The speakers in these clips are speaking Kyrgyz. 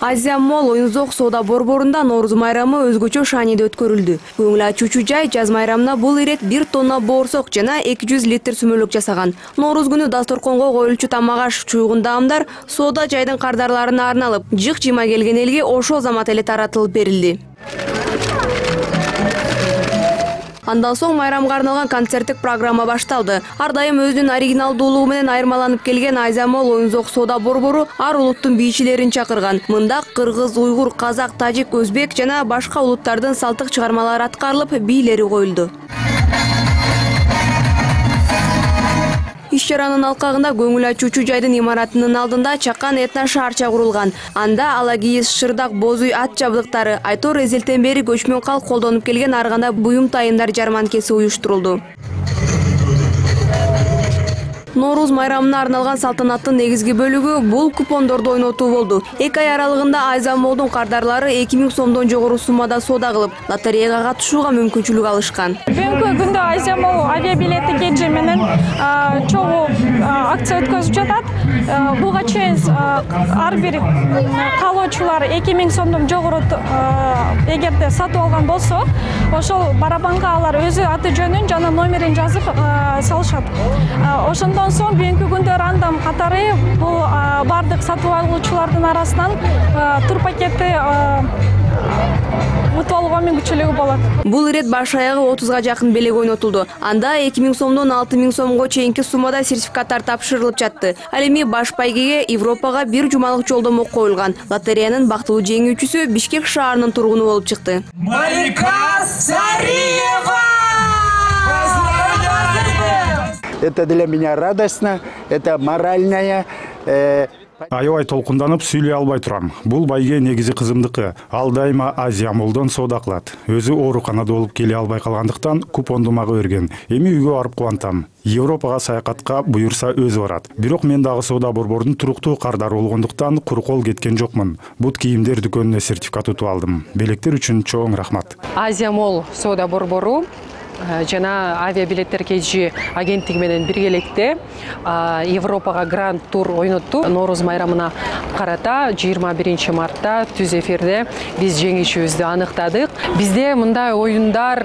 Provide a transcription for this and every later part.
Азия Молл оюн-зоок соода борборунда Нооруз майрамы өзгөчө шааниде өткөрүлдү. Көңүл ачуучу жай жаз майрамына бул ирет 1 тонна боорсок жана 200 литр сүмөлөк жасаган. Нооруз күнү дасторконго коюлчу тамак-аш, чуйгун даамдар соода жайдын кардарларына арналып, жык-жыйма келген элге ошол замат эле таратылып берилди. Андан соң майрамга арналган концерттик программа башталды. Ар дайым өзүнүн оригиналдуулугу менен айырмаланып келген Азия Молл оюн-зоок соода борбору ар улуттун бийчилерин чакырган. Мында кыргыз, уйгур, казак, тажик, өзбек жана башка улуттардын салттык чыгармалары аткарылып, бийлери коюлду. Иш-чаранын алкагында көңүл ачуучу жайдын имаратынын алдында чакан этно-шаарча курулган. Анда алагийиз, шырдак, боз үй ат жабдыктары, айтор эзелтен бери көчмөн калк колдонуп келген ар кандай буюм тайымдар жарманкеси уюштурулду. Нооруз майрамына арналган салтанаттын негизги бөлүгү бул купондорду ойнотуу болду. 2 ай аралыгында Азия Моллдун кардарлары 2000 сомдон жогору суммада соода кылып, лотереяга катышууга мүмкүнчүлүк алышкан. Бүгүнкү күндө Азия Молл авиабилети кежи менен чогуу акция өткөзүп жатат. Буга чейин ар бир каалоочулар 2000 сомдон жогору эгерде сатып алган болсо, ошол барабанга алар өзү аты жөнүн жана номерин жазып салышат. Ошондон соң бүгүнкү күндө рандом катары бул бардык сатып алуучулардын арасынан тур пакетти утуп алууга мүмкүнчүлүгү болот. Бул ирет баш аягы 30га жакын белек ойнотулду. Анда 2000 сомдон 6000 сомго чейинки суммада сертификаттар тапшырылып жатты. Ал эми баш байгеге Европага 1 жумалык жолдомо коюлган. Лотереянын бактылуу жеңүүчүсү Бишкек шаарынын тургуну болуп чыкты. Малика Сариева! Это для меня радостно, это моральная. Аябай толкунданып сүйлөй албай турам. Бул байге негизи кызымдыкы. Ал дайыма Азия Моллдон соода кылат. Өзү ооруканада болуп келе албай калгандыктан купонду мага берген. Эми үйгө барып кубантам. Европага саякатка буюрса өзү барат. Бирок мен дагы соода борборунун туруктуу кардары болгондуктан куру кол кеткен жокмун. Бут кийимдер дүкөнүнө сертификат утуп алдым. Белектер үчүн чоң рахмат. Азия Молл соода борбору жана авиабилеттер кежи агенттиги менен биргеликте Европага гранд тур ойнотту. Нооруз майрамына карата 21 мартта түз эфирде биз жеңүүчүбүздү аныктадык. Бизде мындай оюндар,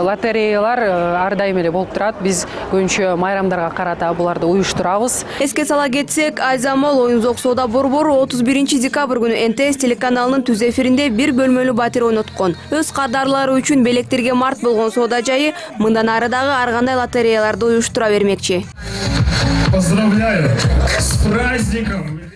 лотереялар ар дайым эле болуп турат. Биз көбүнчө майрамдарга карата буларды уюштурабыз. Эске сала кетсек, Азия Молл оюн-зоок соода борбору 31 декабрь күнү НТС телеканалынын түз эфиринде 1 бөлмөлүү батир ойноткон. Өз кардарлары үчүн белектерге март болгон соода жайы мындан ары дагы ар кандай лотереяларды уюштура бермекчи. Поздравляю с праздником!